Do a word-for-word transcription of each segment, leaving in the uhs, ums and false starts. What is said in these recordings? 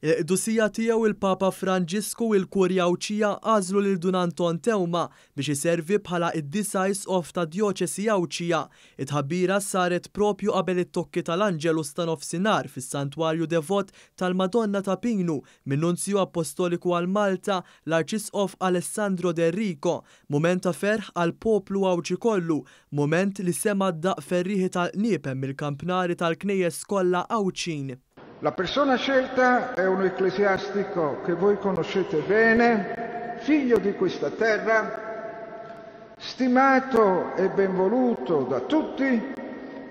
Il-Qdusija Tiegħu il-Papa Franġisku u l-Kurja Għawdxija għażlu lil Dun Anton Teuma biex iservi bħala id-disa' Isqof tad-Djoċesi Għawdxija. It-tħabbira saret propju qabel it-tokki tal-Angelus ta' nofsinhar fis-Santwarju Devot tal-Madonna ta' Pinu min-Nunzju Appostoliku għal Malta, l-Arċisqof Alessandro D'Errico. Mument ta' ferħ għall-poplu Għawdxi kollu, mument li sema' d-daqq ferrieħi tal-qniepen mill-kampnari tal-knejjes kollha Għawdxin. La persona scelta è un ecclesiastico che voi conoscete bene, figlio di questa terra, stimato e benvoluto da tutti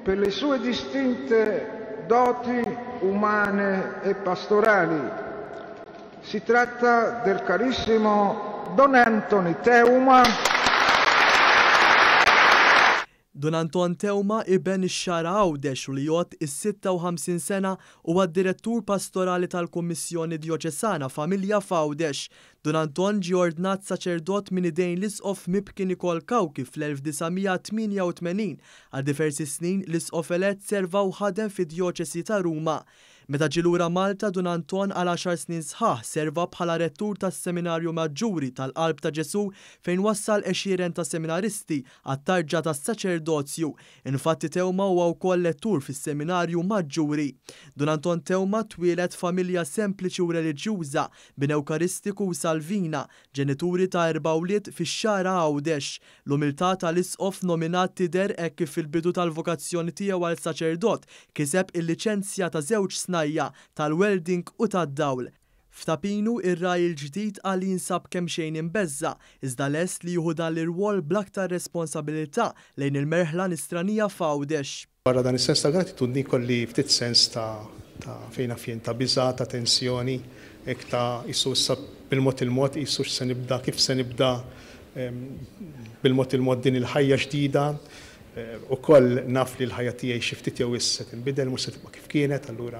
per le sue distinte doti umane e pastorali. Si tratta del carissimo Don Anthony Teuma. Dun Anton Teuma, iben ix-Xagħra Għawdex u li jgħodd is-sitta u ħamsin sena, huwa d-direttur pastorali tal-Kummissjoni Djoċesana Familja f'Għawdex. Dun Anton ġie ordnat saċerdot minn idejn l-Isqof Mibki Nikol Cauchi fl-elf disa' mija tmienja u tmenin. Għal diversi snin l-Isqof elett serva u ħadem fid-Djoċesi ta' Ruma. Meta ġie lura Malta, Dun Anton għal għaxar snin sħaħ serva bħala rettur tas-Seminarju Maġġuri tal-Qalb ta' Ġesù fejn wassal għexieren ta' seminaristi għat-tarġa tas-saċerdozju. Infatti Teuma huwa wkoll lettur fis-Seminarju Maġġuri. Dun Anton Teuma twieled familja sempliċi u reliġjuża, bin Ewkaristiku u Salvina, ġenituri ta' erba' wlied fix-Xagħra Għawdex. L-umiltà tal-isqof nominat tidher hekk kif fil-bidu tal-vokazzjoni tiegħu għal saċerdot kiseb il-liċenzja ta' żewġ snajja tal-welding u tad-dawl. F'Ta' Pinu ir-raj il-ġdid qal li jinsab kemm xejn imbeżża, iżda lest li jieħu dan l-irwol bl-aktar responsabilità lejn il-merħla nisranija f'Għawdex. Barra dan is-sens ta' gratitudni kolli ftit sens ta', ta' fejn naf jien, ta' biża', ta' tensjoni, hekk ta' qisu issa bil-mod il-mod, qisu x'se nibda, kif se nibda, em, bil-mod il-mod din il-ħajja ġdida. Eh, ukoll naf li l-ħajja tiegħi xi ftit jew issa se tinbidel, mhux se tibqa' kif kienet, allura,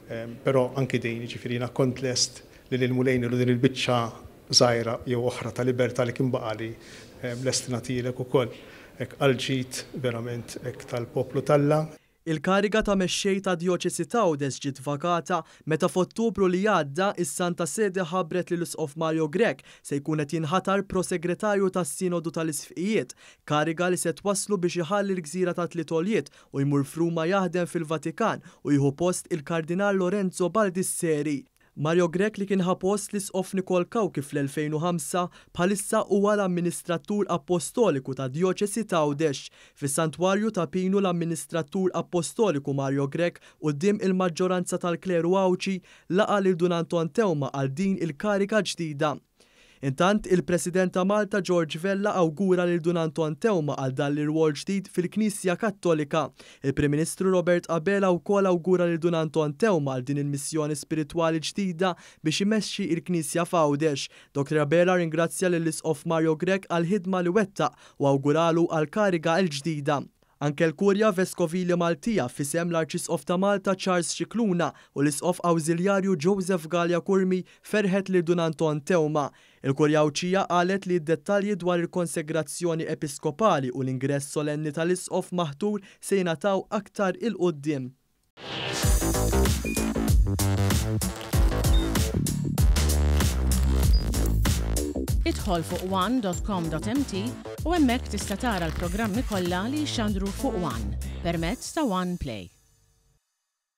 em, però anki din, jiġifieri jiena kont lest li lil Mulej nilu din il-biċċa żgħira jew oħra ta' libertà li kien baqali, em, lest nagħtilek ukoll hekk għall-ġid verament hekk tal-poplu t'Alla. Il-kariga ta' mexxej ta' Djoċesi t'Għawdex ġiet vakata meta f'Ottubru li għadda is-Santa Sede ħabbret li l-Isqof Mario Grech se jkun qed jinħatar prosegretarju tas-Sinodu tal-Isqfijiet, kariga li se twasslu biex iħalli l-gżira ta' Tliet Għoljiet u jmur f'Ruma jaħdem fil-Vatikan u jieħu post il-Kardinal Lorenzo Baldisseri. Mario Grech li kien ħa post l-Isqof Nikol Cauchi fl-elfejn u ħamsa bħalissa huwa l-amministratur apostoliku ta' Djoċesi t'Għawdex. Fis-Santwarju ta' Pinu l-amministratur apostoliku Mario Grech quddiem il-maġġoranza tal-kleru Għawdxi laqa' lil Dun Anton Teuma għal din il-kariga ġdida. Intant, il-President ta' Malta George Vella awgura lil Dun Anton Teuma għal dan l-irwol ġdid fil-Knisja Kattolika. Il-Prim Ministru Robert Abela wkoll awgura lil Dun Anton Teuma għal din il-missjoni spiritwali ġdida biex imexxi il-Knisja f'Għawdex. Doktor Abela ringrazzja lill-Isqof Mario Grech għal ħidma li wettaq u awguralu għal kariga l-ġdida. Anke l-Kurja Veskovili Maltija fisem l-Arċisqof ta' Malta Charles Scicluna u l-Isqof Awżiljarju Joseph Galea Curmi ferħet lil Dun Anton Teuma. Il-Kurja Għawdxija qalet li d-dettalji dwar il-konsegrazzjoni episkopali u l-ingress solenni tal-Isqof maħtur se jingħataw aktar il-quddiem. Idħol fuq one dot com dot m t u hemmhekk tista' tara l-programmi kollha li jixxandru fuq One permezz ta' One Play.